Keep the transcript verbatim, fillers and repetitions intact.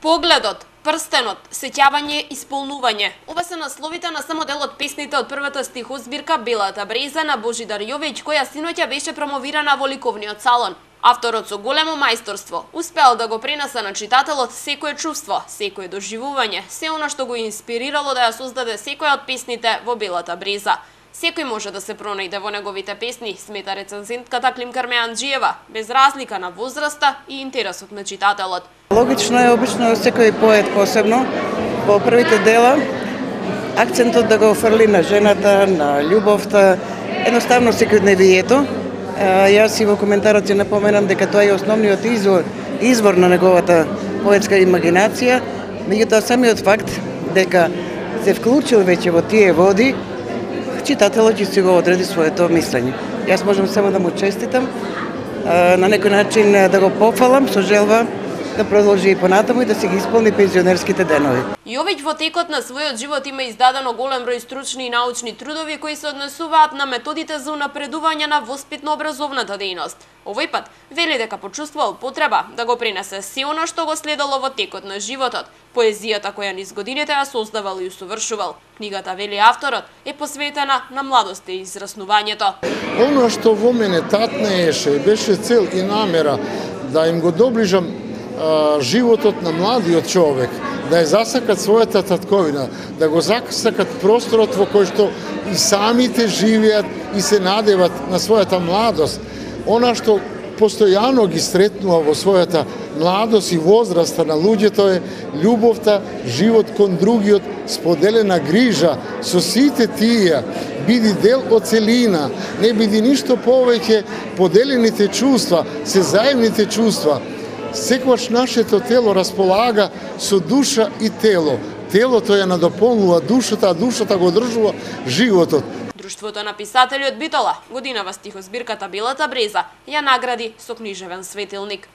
Погледот, прстенот, сеќавање, исполнување. Ова се насловите на само дел од песните од првата стихозбирка Белата бреза на Божидар Јович, која синоќа беше промовирана во ликовниот салон. Авторот со големо мајсторство успеал да го пренесе на читателот секое чувство, секое доживување, се она што го инспирирало да ја создаде секоја од песните во Белата бреза. Секој може да се пронајде во неговите песни, смета рецензентката Климка Армеанџиева, без разлика на возраста и интересот на читателот. Логично е, обично секој поет посебно, во првите дела, акцентот да го офрли на жената, на љубовта, едноставно секојдневието. Јас и во коментарот ќе напоменам дека тоа е основниот извор, извор на неговата поетска имагинација, меѓутоа самиот факт дека се вклучил веќе во тие води, читателот ќе си го одреди своето мислење. Јас можам само да му честитам, на некој начин да го пофалам со желба да продолжи и понатаму и да се ги исполни пензионерските денови. Јович во текот на својот живот има издадено голем број стручни и научни трудови кои се однесуваат на методите за унапредување на воспитно-образовната дејност. Овој пат вели дека почувствувал потреба да го пренесе се она што го следало во текот на животот, поезијата која низ годините ја создавал и усовршувал. Книгата, вели авторот, е посветена на младоста и израснувањето. Оно што во мене татнееше, беше цел и намера да им го доближам животот на младиот човек, да ја засакат својата татковина, да го засакат просторот во кој што и самите живеат и се надеват на својата младост. Она што постојано ги сретнува во својата младост и возраста на луѓето е љубовта, живот кон другиот, споделена грижа со сите тие, биди дел од целина, не биди ништо повеќе, поделените чувства, се заемните чувства. Секогаш нашето тело располага со душа и тело. Телото ја надополнува душата, а душата го одржува животот. Друштвото на писателјот Битола, годинава стихозбирката Белата бреза, ја награди со книжевен светилник.